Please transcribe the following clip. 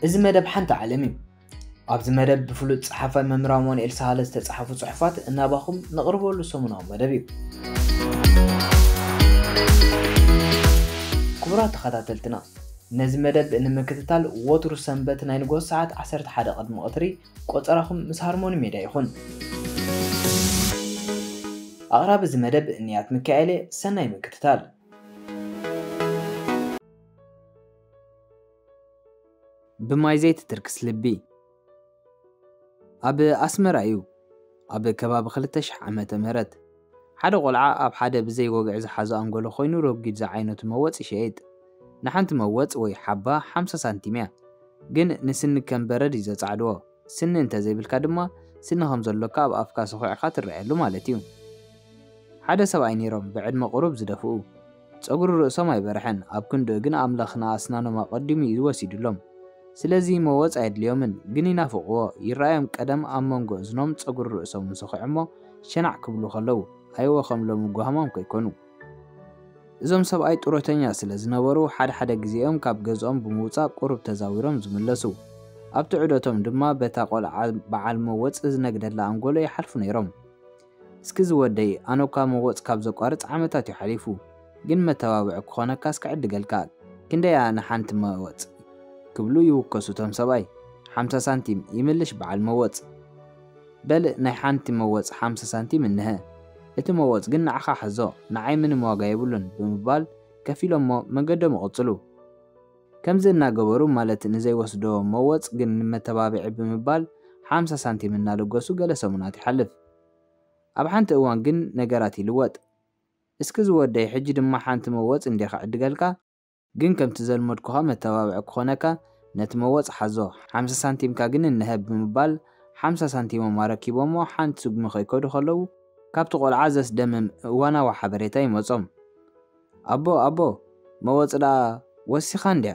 እዚ መደብ ሓንቲ ዓለም እዩ። ኣብዚ መደብ ብፍሉጥ ጸሓፋይ መምህር ኣማኑኤል ሳህለ ዝተጻሕፉ ጽሑፋት እናባኹም ነቕርበሉ ሰሙናዊ መደብ እዩ። ክቡራት ተኸታተልትና፣ ነዚ መደብ ንምክትታል ወትሩ ሰንበት ናይ ንግሆ ሰዓት ዓሰርተ ሓደ ቅድሚ ቀትሪ ቆጸራኹም ምስ ሃርሞኒ ሜድያ ይኹን። ኣቕራቢ እዚ መደብ ንያት ሚካኤል እየ። ሰናይ ምክትታል። ብማይ ዘይትትርክስ ልቢ። ኣብ ኣስመራ እዩ። ኣብ ከባቢ ክልተ ሽሕ ዓመተ ምህረት ሓደ ቆልዓ ኣብ ሓደ ብዘይ ወግዒ ዝሓዞ ኣንጎሎ ኮይኑ ረጒድ ዝዓይነቱ መወፅ ይሸይጥ። ንሓንቲ መወፅ ወይ ሓባ ሓምሳ ሳንቲም እያ። ግን ንስኒ ከም በረድ እዩ ዘፃዕድዎ። ስኒ እንተዘይብልካ ድማ ስኒ ከም ዘሎካ ኣብ ኣፍካ ሰኹዕካ ትረኣየሉ ማለት እዩ። ሓደ ሰብኣይ ነይሮም ብዕድመ ቁሩብ ዝደፍኡ። ጸጉሪ ርእሶም ኣይበርሐን፣ ኣብ ክንድኡ ግን ኣምላኽ ንኣስናኖም ኣቐዲሙ እዩ ወሲዱሎም። ስለዚ መወጽ ኣየድልዮምን፣ ግን ይናፍቕዎ። ይረኣዮም ቀደም ኣብ መንጎ እዝኖም ጸጉሪ ርእሶም እንሰኹዕ እሞ ሸናዕ ክብሉ ከለዉ፣ ኣይወ ከም ሎሚ ጓህማም ከይኮኑ። እዞም ሰብኣይ ጡረተኛ ስለ ዝነበሩ፣ ሓደ ሓደ ግዜኦም ካብ ገዝኦም ብምውጻእ ቁሩብ ተዛዊሮም ዝምለሱ። ኣብቲ ዑደቶም ድማ በታ ቆልዓ በዓል መወጽ ዝነግደላ ኣንጎሎ ይሓልፉ ነይሮም። እስኪ ዝወደይ፣ ኣነ እኳ መወጽ ካብ ዘቋርጽ ዓመታት እዩ ሓሊፉ፣ ግን መተባብዒ ክኾነካስ ክዕድገልካ፣ ክንደያ ንሓንቲ መወጽ? ክብሉ ይውከሱ እቶም ሰብኣይ። ሓምሳ ሳንቲም፣ ይምልሽ በዓል መወጽ። በል ናይ ሓንቲ መወጽ ሓምሳ ሳንቲም እንሀ። እቲ መወጽ ግን ንዓኻ ሓዞ፣ ንዓይ ምንም ዋጋ የብሉን ብምባል ከፊሎሞ መንገዶም ይቕጽሉ። ከምዚ እናገበሩ ማለት ንዘይወስዶ መወጽ ግን ንመተባብዒ ብምባል ሓምሳ ሳንቲም እናለገሱ ገለ ሰሙናት ይሓልፍ። ኣብ ሓንቲ እዋን ግን ነገራት ይልወጥ። እስኪ ዝወደይ ሕጂ ድማ ሓንቲ መወጽ እንዴ ክዕድገልካ፣ ግን ከምቲ ዘልመድኩኻ መተባብዒ ክኾነካ ነቲ መወጽ ሓዞ፣ ሓምሳ ሳንቲምካ ግን እንሀብ ብምባል ሓምሳ ሳንቲሞም ኣረኪቦሞ ሓንቲ ስጉሚ ከይከዱ ከለዉ ካብቲ ቆልዓ ዘስደምም እዋናዊ ሓበሬታ ይመጾም። ኣቦ ኣቦ መወጽ ደኣ ወሲኻ እንድያ